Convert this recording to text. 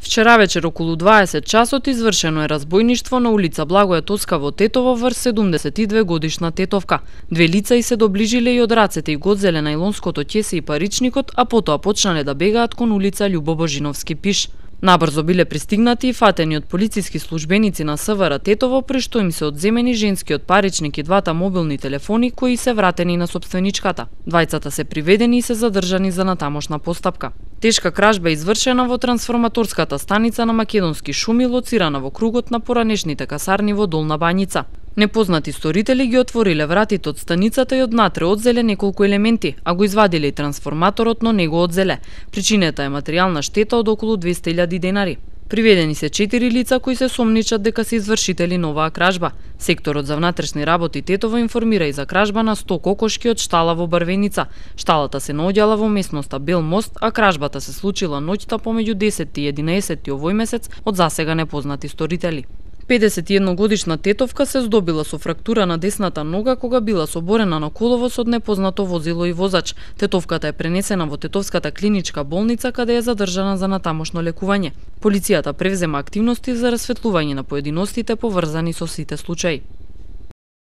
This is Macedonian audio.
Вчера вечер околу 20 часот извршено е разбојништво на улица Благоја Тоска во Тетово врз 72 годишна тетовка. Две лица и се доближиле и од рацете и го одзеле најлонското ќесе и паричникот, а потоа почнале да бегаат кон улица Љубо Божиновски пиш. Набрзо биле пристигнати и фатени од полициски службеници на СВР Тетово, при што им се одземени женскиот паричник и двата мобилни телефони кои се вратени на сопственичката. Двајцата се приведени и се задржани за натамошна постапка. Тешка кражба е извршена во трансформаторската станица на Македонски шуми, лоцирана во кругот на поранешните касарни во Долна Бањица. Непознати сторители ги отвориле вратите од станицата и однатре одзеле неколку елементи, а го извадиле и трансформаторот, но не го одзеле. Причината е материјална штета од околу 200.000 денари. Приведени се 4 лица кои се сомничат дека се извршители на оваа кражба. Секторот за внатрешни работи Тетово информира и за кражба на 100 кокошки од штала во Барвеница. Шталата се наоѓала во местноста Бел мост, а кражбата се случила ноќта помеѓу 10 и 11 овој месец од засега непознати сторители. 51-годишна тетовка се здобила со фрактура на десната нога кога била соборена на коловоз од непознато возило и возач. Тетовката е пренесена во Тетовската клиничка болница каде е задржана за натамошно лекување. Полицијата превзема активности за расветлување на поединостите поврзани со сите случаи.